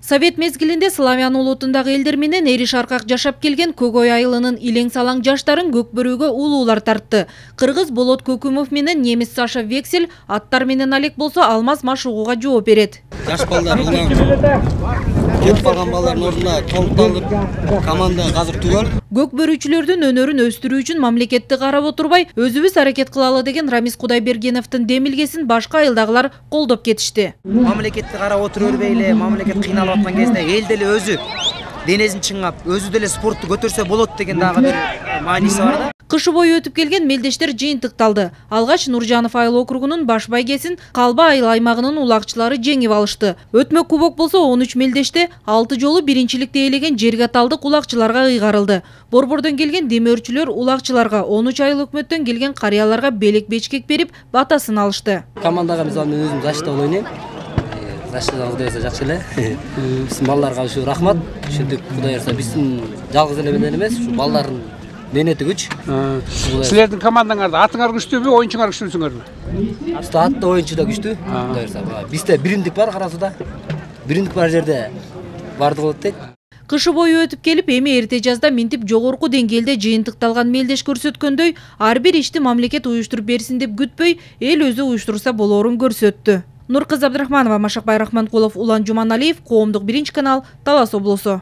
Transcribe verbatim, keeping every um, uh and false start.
Совет мезгилинде славян улутундагы элдер менен эри шаркак жашап келген Көгөй айылынын илең салаң жаштарын көкбөрүүгө улуулар тартты. Кыргыз Болот Көкүмов менен немис Саша Вексель аттар менен алек болсо Алмаз Машугуга жооп берет. Жаш балдар кетип калган балдардын ордуна толукталып команда азыр түгөл. Көкбөрүүчүлөрдүн өнөрүн өстүрүү үчүн мамлекетти карап отурбай, өзүбүз аракет кылалы деген Рамис Кудайбергеновдун демилгесин башка айылдагылар колдоп кетишти. Мамлекетти карап отура бербей эле, мамлекет кыйналып аткан кезде эл деле өзү денесин чыңгап, өзү деле спортту көтөрсө болот деген дагы бир мааниси бар да. Кышы бою өтүп келген мелдештер жыйынтыкталды. Алгач Нуржанов айыл округунун баш байгесин Калба айыл аймагынын улагчылары жеңип алышты. Өтмө кубок болсо он үч мелдеште алты жолу биринчиликти ээлеген Жергаталдык улагчыларга ыйгарылды. Борбордон келген демөөрчүлөр улагчыларга, он үч айыл өкмөттөн келген карыяларга белек бечкек берип, батасын алышты. Командага мисалы мен өзүм защита ойнойм. Защита Кудай аса жакшы эле. Биздин балдарга ушу рахмат. Ушинтип Кудай аса биздин жалгыз эле менен эмес, ушу балдардын менети күч. Силердин командаңарда атыңар күчтүүбү, оюнчуңар күчтүүсүңөрбү? Бизде атта оюнчу да күчтүү. Кудай аса. Бизде биримдик бар Кара Сууда. Биримдик бар жерде барды болот дейт. Кышы бою өтүп келип, эми эрте жазда минтип жогорку деңгээлде жыйынтыкталган мелдеш көрсөткөндөй, ар бир ишти мамлекет уюштуруп берсин деп күтпөй, эл өзү уюштурса болоорун көрсөттү. Нуркызы Абдрахманова, Машак Байрахманкулов, Улан Жуманалиев, Коомдук биринчи канал, Талас облусу.